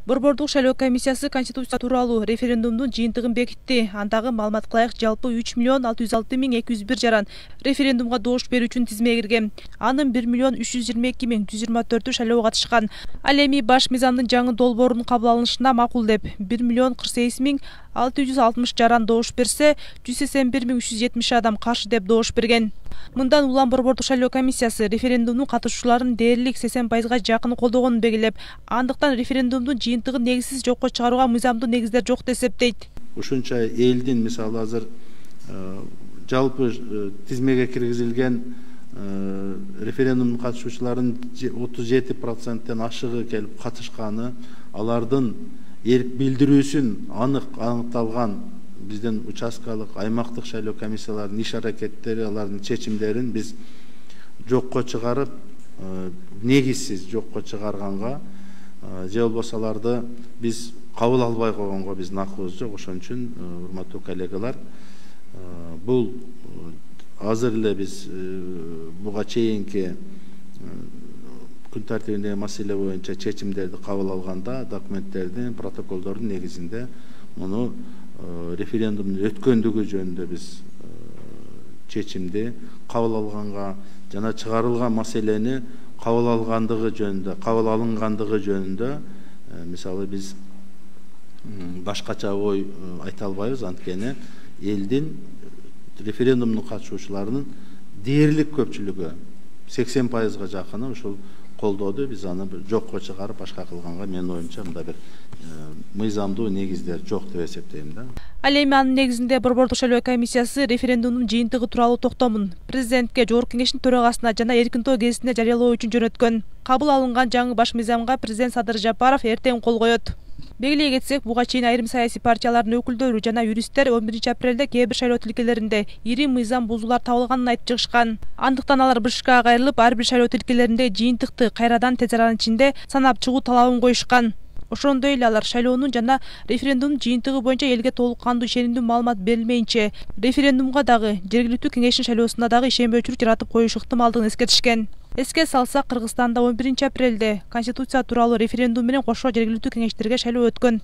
Борбордук шайлоо комиссиясы Конституция тууралуу референдумдун жыйынтыгын бекитти. Андагы маалыматка ылайык жалпы 3.606.201 жаран референдумга добуш берүү үчүн тизмеге кирген. Анын 1.322.124 шайлоого катышкан. Ал эми баш мыйзамдын жаңы долбоорунун кабыл алынышына макул деп 1.48.660 жаран добуш берсе, 181.370 адам каршы деп добуш берген. Мындан улам Борбордук шайлоо комиссиясы референдумдун катышуучуларынын дээрлик 80% жакын колдогонун белгилеп, андыктан референдумдун жыйынтыгын негизсиз жокко чыгарууга мыйзамдуу негиздер жок деп эсептейт. Ушунча элдин мисалы азыр жалпы тизмеге киргизилген референдум катышуучуларынын 37%тен ашыгы келип катышканы, алардын эрк билдирүүсүн аныкталган биздин участкалык аймактык шайлоо комиссияларынын иш аракеттери, алардын чечимдерин биз жокко чыгарып, негизсиз жокко чыгарганга, же болбосо аларды биз кабыл албай койгонго биздин акыбыз жок. Ошон үчүн урматтуу коллегалар, бул азыр эле биз буга чейинки күн тартибиндеги маселе боюнча чечимдерди кабыл алганда, документтердин, протоколдордун негизинде муну референдумдун өткөндүгү жөнүндө биз чечимди кабыл алганга жана чыгарылган маселени кабыл алынгандыгы жөнүндө мисалы биз башкача ой айта албайбыз. Анткени элдин референдумдун катышуучуларынын дээрлик көпчүлүгү 80%га жакыны ушул колдоду. Биз аны жокко чыгарып башка кылганга менин оюмча мында бир мыйзамдуу негиздер жок деп эсептейм да. Ал эми анын негизинде Борбордук шайлоо комиссиясы референдумдун жыйынтыгы тууралуу токтомун президентке, Жогорку Кеңештин төрагасына жана Эркинтоо гезитине жарыялоо үчүн жөнөткөн. Кабыл алынган жаңы баш мыйзамга президент Садыр Жапаров эртең кол коет. Белгилей кетсек, буга чейин айрым саясий партиялардын өкүлдөрү жана юристтер 11 апрелде кээ бир шайлоо тилкелеринде ири мыйзам бузуулар табылганын айтып чыгышкан. Андыктан алар БШКга кайрылып, ар бир шайлоо тилкелеринде жыйынтыкты кайрадан тез аранын ичинде санап чыгуу талабын коюшкан. Ошондой эле алар шайлоонун жана референдумдун жыйынтыгы боюнча элге толук кандуу ишенимдүү маалымат берилмейинче референдумга дагы, жергиликтүү кеңештин шайлоосуна дагы ишенбөөчүлүк жаратып коюшу ыктымалдыгын эскертишкен. Эске салсак, Кыргызстанда 11 апрелде Конституция тууралуу референдум менен кошо жергиликтүү кеңештерге шайлоо өткөн.